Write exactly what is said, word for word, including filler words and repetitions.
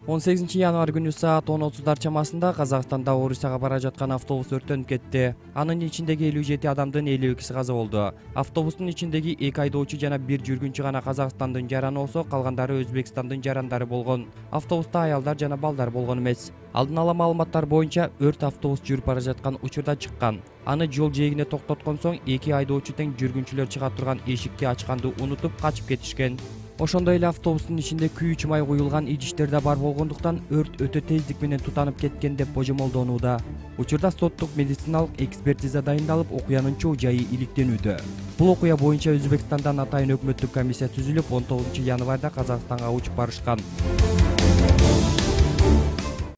он сегизинчи январь күнү саат он отуздар чамасында Казакстанда Орусияга бара жаткан автобус өрттөнүп кетти. Анын ичиндеги элүү жети адамдын элүү экиси каза болду. Автобустун ичиндеги эки айдоочу жана бир жүргүнчү гана Казакстандын жараны болсо, калгандары Өзбекстандын жарандары болгон. Автобуста аялдар жана балдар болгон эмес. Алдын ала маалыматтар боюнча өрт автобус жүрүп бара жаткан учурда чыккан. Аны жол жээгине токтоткон соң эки айдоочу тең жүргүнчүлөр чыга турган эшикти ачканды унутуп качып кетишкен. Ошондой эле автобустун ичинде күйүүчү май куюлган идиштер да бар болгондуктан өрт өтө тездик менен тутанып кеткен деп божомолдонууда. Учурда соттук медициналык экспертиза дайындалып, окуянын чоо жайы иликтенүүдө. Бул окуя боюнча Өзбекстандан атайын өкмөттүк комиссия түзүлүп, он тогузунчу январда Казакстанга учуп барышкан.